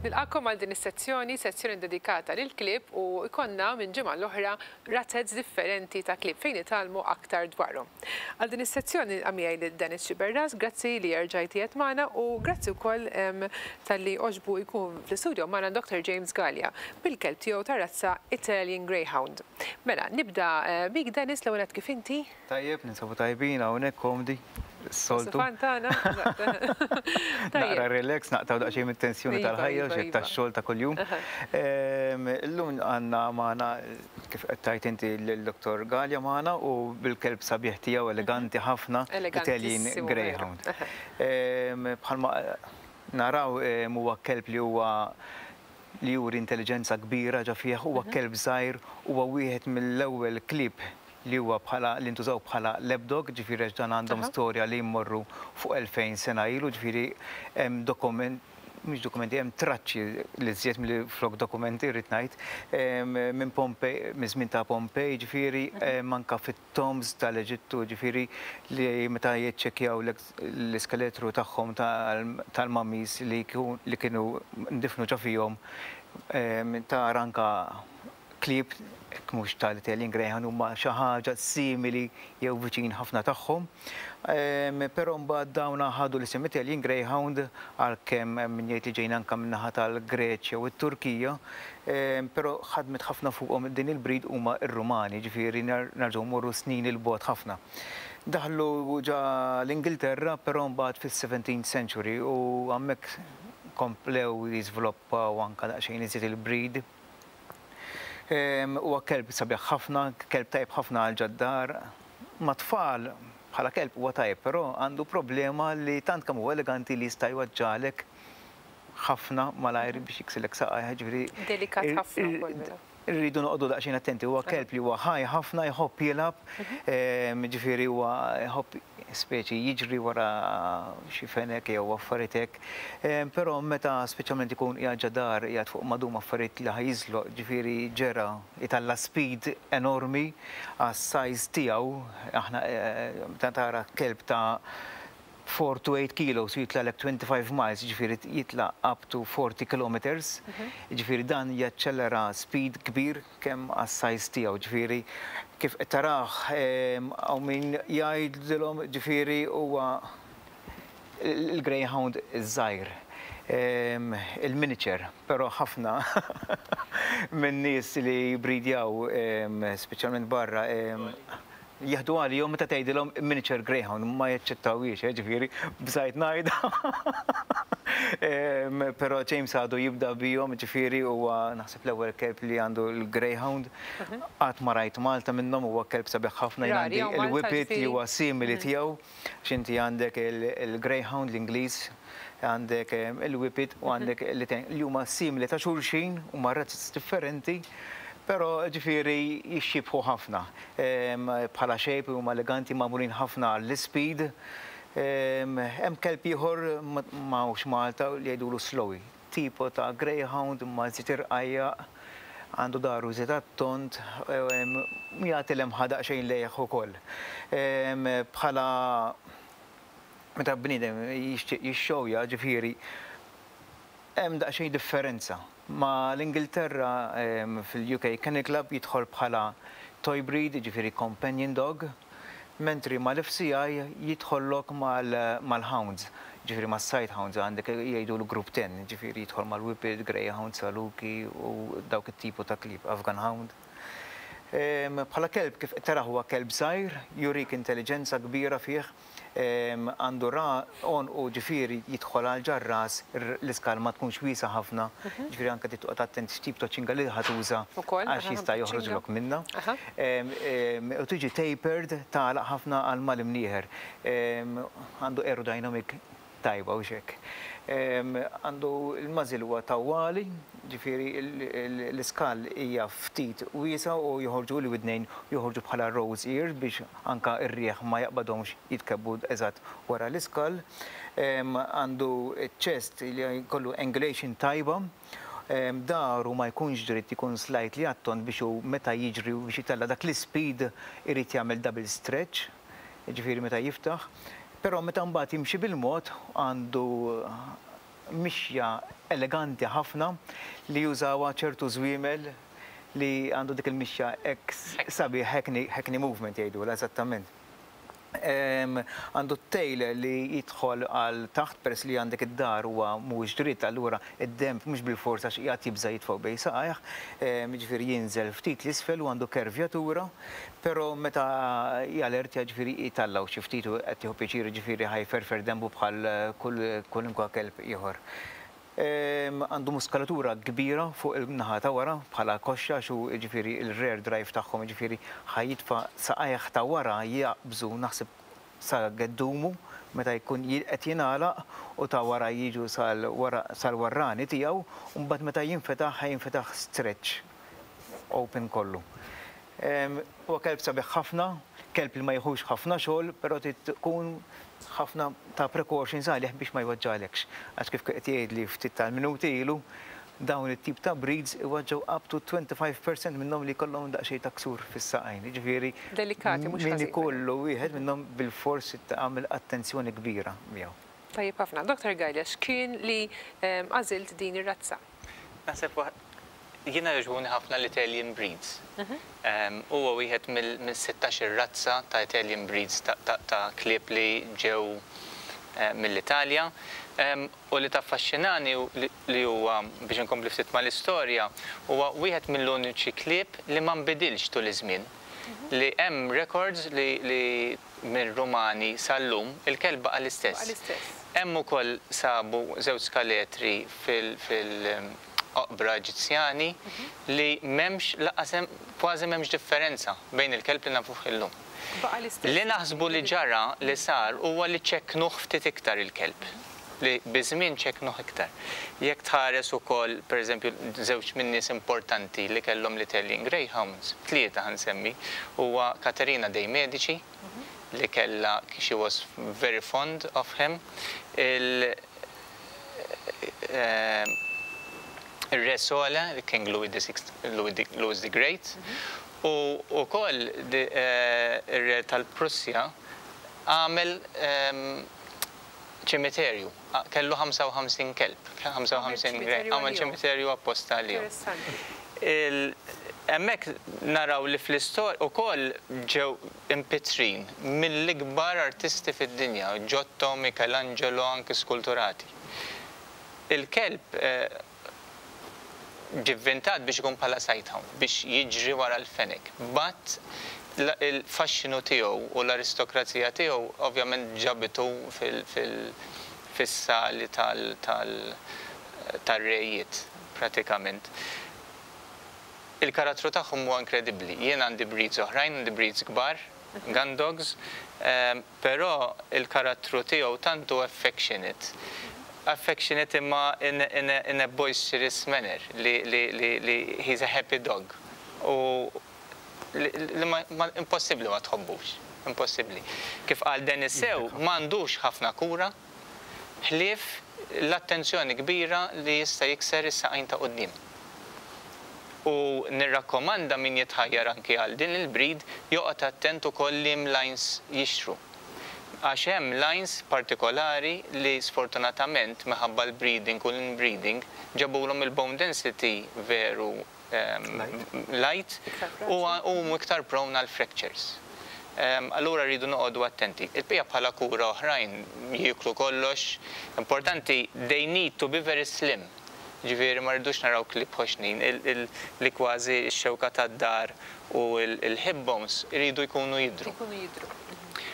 Nilqakom għal din is-sezzjoni, sezzjoni dedikata lill-klieb u jkollna minn ġimgħa l-oħra razez differenti ta' klieb fejn nitgħallmu aktar dwarhom. Għal din is-sezzjoni nilqa' miegħi lil Dennis Sciberras, grazzi li erġajt qiegħed magħna u grazzi wkoll talli għoġbu jkun fl-istudio magħna Dr. James Galea bil-kelb tiegħu tar-razza Italian Greyhound. Mela, nibda bik Dennis, l-ewwel nett kif inti? Tajjeb, ninsabu tajbin hawnhekk komdi, s-soltu. Sufan tagħna. Naqra relax, naqtgħu daqsxejn mit-tensjoni tal-ħajja u xejn tax-xogħol ta' kuljum. Illum għandna magħna kif qed tgħid inti lil-Dottor Galea magħna u bil-kelb sabiħ tiegħu eleganti ħafna, Italian Greyhound. Bħalma naraw huwa kelb li huwa li juri intelliġenza kbira ġa fih, huwa kelb żgħir, huwa wieħed mill-ewwel klieb li huwa bħala li ntużaw bħala lap dog, ġifieri għax dan għandhom storja li jmorru fuq 2000 sena ilu, ġifieri hemm dokument, mhux dokumenti, hemm traċċi li żjed milli flok dokumenti rrid ngħid, minn Pompej, miż-żmien ta' Pompej, ġifieri anke fit-tombs tal-Eġittu, ġifieri li meta jiċċekkjaw l-iskeletru tagħhom tal-mummies li kienu ndifnu ġo fihom tara anke klieb, jekk mhux tal-Italian Greyhound, huma xi ħaġa simili jew viċin ħafna tagħhom. Però mbagħad dawn ħadu l-isem Italian Greyhound għalkemm hemm min jgħid li ġejna anke min-naħa tal-Greċja u t-Turkija, però ħadmet ħafna fuqhom din il-breed huma r-Rumani, jiġifieri nerġgħu mmorru snin 'il bogħod ħafna. Daħlu ġa l-Ingilterra però mbagħad fis-seventeenth century u hemmhekk komplew jiżviluppaw anke daqsxejn iżjed il-breed. Huwa kelb sabiħ ħafna, kelb tajjeb ħafna għal ġad-dar. Mat-tfal, bħala kelb huwa tajjeb, però għandu problema li tant kemm huwa eleganti li jista' jweġġagħlek ħafna malajr biex jiksilek saqajh, jiġifieri. Delikat ħafna wkoll mela. Irridu noqogħdu daqsxejn attenti. Huwa kelb li huwa ħaj ħafna, jħobb jilgħab, jiġifieri huwa jħobb speċi jiġri wara xi fenek jew affarijiet hekk. Però meta speċjalment ikun qiegħed ġa dar, qiegħed fuq madum affarijiet li ħa jiżloq, ġifieri ġera jtalla' speed enormi għas-size tiegħu, aħna meta tara kelb ta' 4 to 8 kilos u jitlagħlek 25 miles, jiġifieri jitla' up to 40 kilometres, jiġifieri dan jaċċellera speed kbir kemm għas-size tiegħu, ġifieri kif qed tarah hawn min jgħidilhom ġifieri huwa l-greyhound iż-żgħir, il-miniature, però ħafna min-nies li jibbridjaw speċjalment barra Jieħdu għalihom meta tgħidilhom miniature greyhound ma jaċċettawhiex, eh, ġifieri bżajt ngħidha. Però James għadu jibda bihom, ġifieri huwa naħseb l-ewwel kelb li għandu l-greyhound. Qatt ma rajt Malta minnhom, huwa kelb sabiħ ħafna, jien għandi l-whippet li huwa simili tiegħu. Għax inti għandek il-greyhound l-Ingliż, għandek il-whippet u għandek l-Italian li huma simili ta' xulxin, huma razez differenti, però ġifieri jixxiebħu ħafna. Bħala shape huma eleganti, magħmulin ħafna għall-ispeed. Hemm kelb ieħor m'hawnx Malta li jgħidulu Slowy. Tipo ta' greyhound imma iżjed irqajjaq, għandu dahru iżjed għat-tond, jagħti lemħa daqsxejn lejh ukoll. Bħala meta bniedem jixtieq jixxowja, ġifieri hemm daqsxejn differenza. Ma' l-Ingilterra fil-UK Kennel Club jidħol bħala toy breed, jiġifieri companion dog, mentri mal-FCI jidħollok mal-hounds, jiġifieri mas-sight hounds, għandek jgħidulu group ten, jiġifieri jidħol mal-whippet, greyhound, saluki u dawk it-tipu ta' klieb, Afghan hound. Bħala kelb kif qed tarah huwa kelb żgħir, jurik intelliġenza kbira fih, Għandu ra għonqu ġifieri jidħol għal ġar-ras, l-iskal ma tkunx wiesgħa ħafna, ġifieri anke trid toqgħod attent x'tip ta' ċinga li ħa tuża għax jista' joħroġlok minnha. U tiġi tapered tagħlaq ħafna għal mal-imnieħer. Għandu aerodynamic tajba hux hekk. Għandu l-muzzle huwa tawwali, ġifieri l-iskall hija ftit wiesgħa u joħorġu l-widnejn joħorġu bħala rose ears biex anke r-riħ ma jaqbadhomx jitkebbu eżatt wara l-iskall. Għandu ċ-chest li jkollu angulation tajba. Dahru ma jkunx dritt, ikun slightly għat-tond biex hu meta jiġri u biex itella' dak l-ispeed irid jagħmel double stretch, jiġifieri meta jiftaħ. Però meta mbagħad jimxi bil-mod għandu mixja eleganti ħafna li jużawha ċertu żwiemel li għandu dik il-mixja hekk sabiħ, hackney, hackney movement jgħidulha eżattament. Għandu t-tail li jidħol għal taħt peress li għandek id-dar huwa mhuwiex dritt allura id-denb mhux bilfors għax qiegħed jibża' jitfgħu bejn saqajh, jiġifieri jinżel ftit 'l isfel u għandu kervjatura, però meta jalertja jiġifieri jtallgħu xi ftit u qed jieħu pjaċir jiġifieri ħa jferfer denbu bħal kull kwalunkwe kelb ieħor. Għandu muskolatura kbira fuq il-naħa ta' wara bħala koxxa għax hu jiġifieri l-rear drive tagħhom jiġifieri ħa jitfa' saqajh ta' wara jaqbżu naħseb sa geddumu meta jkun qed jingħalaq u ta' wara jiġu sal-warrani tiegħu u mbagħad meta jinfetaħ ħa jinfetaħ stretch open kollu. Huwa kelb sabiħ ħafna, kelb li ma jieħux ħafna xogħol, però trid tkun ħafna ta' precautions għalih biex ma jweġġagħlekx. Għax kif qed jgħidli ftit tal-minuti ilu, dawn it-tip ta' breeds iweġġgħu up to 25% minnhom li jkollhom daqsxejn ta' ksur fis-saqajn. Jiġifieri Delikati mhux min ħażin. ikollu wieħed minnhom bilfors tagħmel attenzjoni kbira miegħu. Tajjeb ħafna. Dr. Galea, x'kien li għażilt din ir-razza? Naħseb jiena jogħġbuni ħafna l-Italian breeds. Huwa wieħed mill-16 razza ta' Italian breeds ta' klieb li ġew mill-Italja. U li taffaxxinani li huwa, biex inkompli ftit mal-istorja, huwa wieħed mill-uniċi klieb li ma nbidilx tul iż-żmien. Li hemm records li mir-Rumani sal-lum il-kelb baqa' l-istess. Baqa' l-istess. Hemm ukoll sabu żewġ skaletri fil-oqbra Eġizzjani li m'hemmx lanqas hemm kważi m'hemmx differenza bejn il-kelb li nafuh illum. Baqa' l-istess. Li naħsbu li ġara li sar huwa li ċekknuh ftit iktar il-kelb. Li biż-żmien ċekknuh iktar. Jekk tħares ukoll, pereżempju, żewġ min-nies importanti li kellhom l-Italian Greyhounds, tlieta ħa nsemmi, huwa Caterina dei Medici li kellha she was very fond of him, il ir-Re Sole, King Louis the Sixth, Louis the Great, u wkoll ir-Re tal-Prussja għamel ċimiterju, kellu 55 kelb, 55 għamel ċimiterju apposta għalihom. Hemmhekk naraw li fl-istorja ukoll ġew impittrin mill-ikbar artisti fid-dinja, Giotto, Michelangelo, anki skulturati. Il-kelb ġie vvintat biex ikun bħala sighthound, biex jiġri wara l-fenek. But il-faxxinu tiegħu u l-aristokrazija tiegħu ovvjament ġabitu fis-sali tar-rejiet pratikament. Il-karattru tagħhom huwa inkredibbli. Jien għandi breeds oħrajn, għandi breeds kbar, gun dogs, però il-karattru tiegħu tant hu affectionate. Affectionate imma in a boisterous manner li li li li he's a happy dog. U li ma impossibbli ma tħobbux, impossibbli. Kif qal Dennis sew, m'għandux ħafna kura ħlief l-attenzjoni kbira li jista' jikser is-saqajn ta' quddiem. U nirrakkomanda min jitħajjar anki għal din il-breed joqgħod attent ukoll liem lines jixtru. Għax hemm lines partikolari li sfortunatament minħabba l-breeding u l-inbreeding ġabulhom il-bone density veru light u huma iktar prone għal fractures. Allura rridu noqogħdu attenti. Il-bqija bħala kura oħrajn jieklu kollox. Importanti they need to be very slim. Ġifieri ma rridux naraw klieb ħoxnin li kważi x-xewka tad-dar u l-hip bones iridu jkunu jidhru. Ikunu jidhru.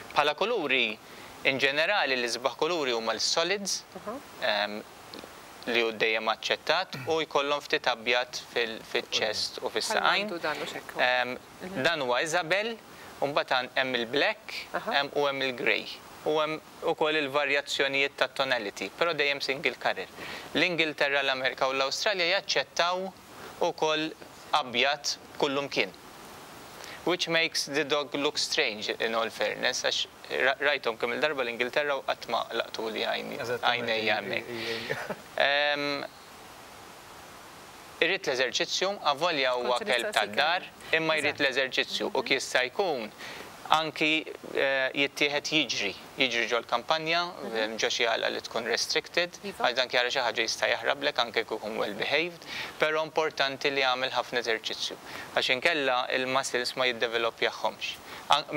Bħala kuluri, in ġenerali l-isbaħ kuluri huma l-solids li hu dejjem aċċettat u jkollhom ftit abjad fil-chest u fis-saqajn. Dan huwa Isabel, u mbagħad hemm il-black u hemm il-grey. U hemm ukoll il-varjazzjonijiet ta' tonality, però dejjem single colour. L-Ingilterra, l-Amerika u l-Awstralja jaċċettaw ukoll abjad kullumkien. Which makes the dog look strange in all fairness, għax rajthom kemm il-darba l-Ingilterra u qatt ma laqtuli għajnejja hemmhekk. Irid l-eżerċizzju, avolja huwa Kont se kelb nistaqsik tad-dar, għalih. imma jrid Eżatt. l-eżerċizzju u jista' jkun anki jittieħed jiġri, jiġri ġol-kampanja, ġo xi għalqa li tkun restricted, għax dan jara xi ħaġa jista' jaħrablek anke jekk ikun well behaved, però importanti li jagħmel ħafna eżerċizzju għax inkella il-muscles ma jiddeveloppjahomx.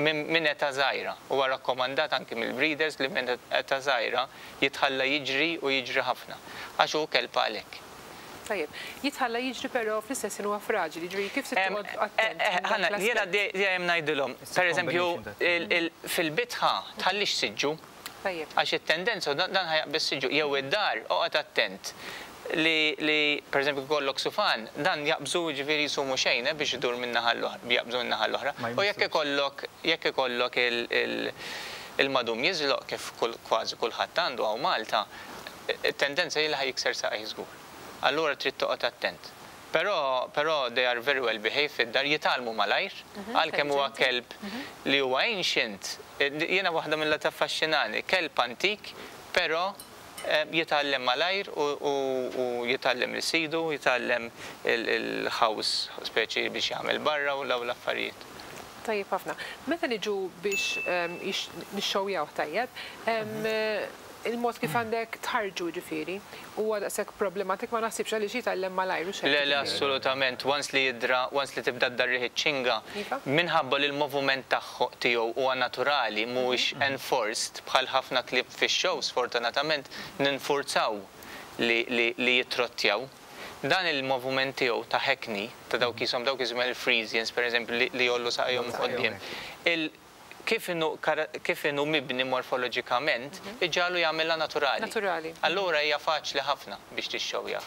Minn età żgħira, huwa rakkomandat anki mill-breeders li minn età żgħira jitħalla jiġri u jiġri ħafna għax hu kelb għalhekk. Tajjeb, jitħalla jiġri, però fl-istess ħin huwa fraġili, ġifieri kif se toqgħod attent minn dak Ħana, jiena l-aspett? Dejjem ngħidilhom, per eżempju, fil-bitħa tħallix siġġu. Għax it-tendenza dan ħa jaqbeż siġġu jew id-dar, oqgħod attent li per eżempju kollok sufan, dan jaqbżu, ġifieri jsumu xejn biex idur minn naħa l-oħra, jaqbżu minn naħa l-oħra. Ma U jekk jmissux. ikollok il-madum jiżloq kif kważi kulħadd għandu hawn Malta, it-tendenza hi li ħa jikser saqajh żgur. Allura trid toqgħod attent. Però they are very well behaved fid-dar, jitgħallmu malajr, għalkemm huwa kelb li huwa ancient, jiena waħda mill taffaxxinani, kelb antik, però jitgħallem malajr u jitgħallem li sidu, jitgħallem il-house speċi biex jagħmel barra u daw l-affarijiet. Tajjeb ħafna. Meta niġu biex nixxowjaw tajjeb, il-mod kif għandek tħarġu ġifieri, huwa daqshekk problematik ma naħsibx għaliex jitgħallem malajr u xejn. Le, assolutament. Once li jidra, once li tibda ddarrih iċ-ċinga, minħabba li l-moviment tiegħu huwa naturali, mhuwiex enforced bħal ħafna klieb fix-show, sfortunatament ninfurzaw li jitrottjaw. Dan il-moviment tiegħu ta' hackney, ta' dawk jisom dawk jisom il-Friesians, per eżempju, li jgħollu saqajhom quddiem. Kif inhu mibni morfoloġikament, iġagħlu jagħmilha naturali. Naturali. Allura hija faċli ħafna biex tixxowjah.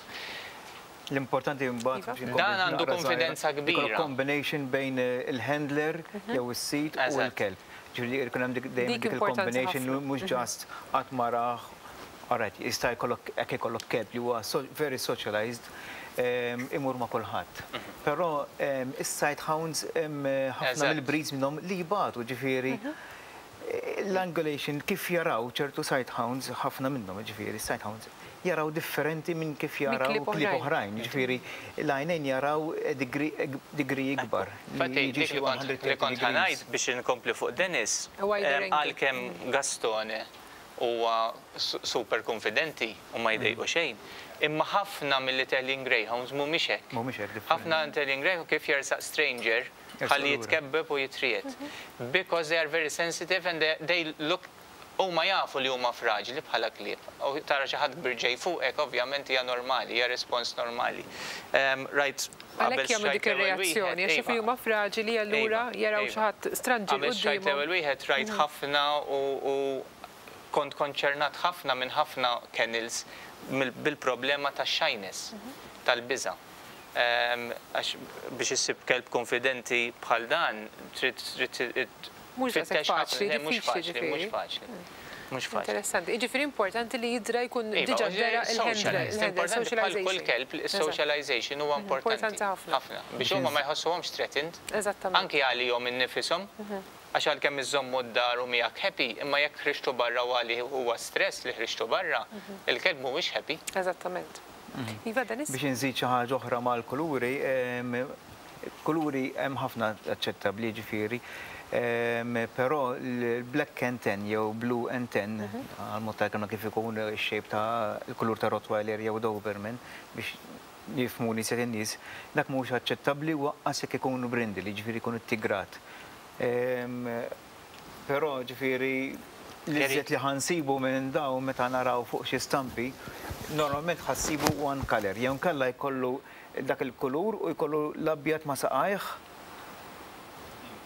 L-importanti mbagħad biex inkomplu Dan għandu naqra żgħira, konfidenza ikollu kbira. combination bejn il-handler jew is-sid u l-kelb. Ġifieri jkun hemm dejjem Dik dik importanti il-combination ħafna. mhux just qatt ma rah. Alright, jista' jkollok hekk ikollok kelb li huwa very socialized, imur ma' kulħadd. Però is-sight hounds ħafna mill-breeds minnhom li jibatu, ġifieri l-angulation kif jaraw ċertu sight hounds, ħafna minnhom, ġifieri sight hounds, jaraw differenti minn kif Minn jaraw klieb klieb oħrajn. oħrajn, ġifieri l-għajnejn jaraw degree ikbar. Li Infatti, jiġi dik xi li kont 130 ħa ngħid degrees. biex inkompli fuq Dennis, A wider angle. għalkemm Gastone huwa super konfidenti u ma jdejqu xejn, imma ħafna mill-Italian Greyhounds mhumiex hekk. Mhumiex hekk, differenti. Ħafna Italian Greyhound kif jersaq stranger Jersaq ħalli lura. jitkebbeb u jitriet. Because they are very sensitive and they look huma jafu li huma fraġili bħala klieb. U tara xi ħadd kbir ġej fuqek, ovvjament hija normali, hija respons normali. Right, Għalhekk qabel jagħmlu xtrajt dik l-ewwel ir-reazzjoni, wieħed, għax iva. Huma fraġili allura jaraw xi ħadd stranġi Qabel xtrajt quddiemhom. l-ewwel wieħed rajt ħafna u kont konċernat ħafna minn ħafna kennels bil-problema ta' shyness, tal-biża'. Għax biex issib kelb konfidenti bħal dan, trid Mhux daqshekk tfittex ħafna. faċli, Le, mhux diffiċli faċli, mhux ġifieri. faċli. Mhux faċli. Interessanti. Jiġifieri importanti li jidra jkun Iva, diġà u dera il-handler, socialized. il-handler, Importanti bħal kull socialization. kelb, il-socialization huwa importanti. Importanti ħafna. Ħafna. Biex huma ma jħossuhomx threatened. Anki għalihom innifisom. Għax għalkemm iżommu d-dar u miegħek happy, imma jekk ħriġtu barra u għalih huwa stress li ħriġtu barra, il-kelb mhuwiex happy. Eżattament. Iva, Dennis? Biex nżid xi ħaġa oħra mal-kuluri, kuluri hemm ħafna aċċettabbli ġifieri, però l-black and tan jew blue and tan, għal-mod ta' kif ikun ix-shape ta' il-kulur ta' Rottweiler jew Doberman biex jifhmu nies in-nies, dak mhux aċċettabbli u anqas jekk ikunu brindle, ġifieri jkunu tigrat. Però ġifieri l-iżjed li ħa nsibu minn daw meta naraw fuq xi stampi, normalment ħa ssibu one color, jew kalla jkollu dak il-kulur u jkollu l-abjad ma' saqajh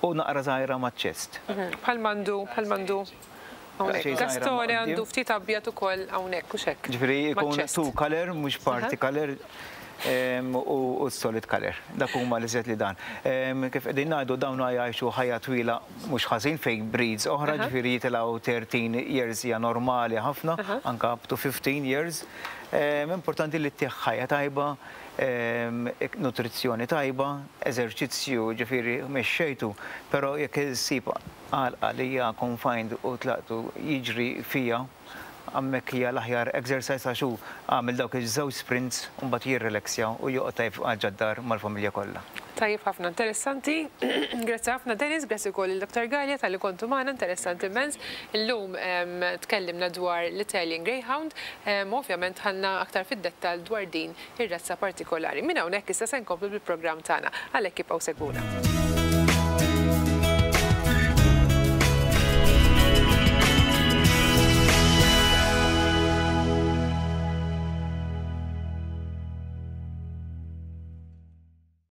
u naqra żgħira ma' chest. Bħal m'għandu, bħal m'għandu hawnhekk. Xejn żgħira ma' Gastone għandu quddiem. ftit abjad ukoll hawnhekk u xekk. Ġifieri Ma' jkun chest. two color, mhux parti color, u solid color. Dak huma li li dan. Kif qegħdin ngħidu dawn jgħixu ħajja twila mhux ħażin fejn breeds oħra, ġifieri jitilgħu 13 years hija normali ħafna, anka up to 15 years. Importanti li ttih ħajja tajba, nutrizzjoni tajba, eżerċizzju, ġifieri mexxejtu, però jekk issib għalqa li hija confined u tlaqtu jiġri fija. Hemmhekk hija l-aħjar exercise għax hu għamel dawk iż-żewġ sprints u mbagħad jirrilaxja u joqgħod tajjeb ġod-dar mal-familja kollha. Tajjeb ħafna, interessanti. Grazzi ħafna Dennis, grazzi wkoll lil Dr. Galea talli kontu magħna, interessanti immens. Illum tkellimna dwar l-Italian Greyhound, u ovvjament dħalna aktar fid-dettall dwar din ir-razza partikolari. Minn hawnhekk issa se nkomplu bil-programm tagħna, għalhekk ibqgħu segwuna.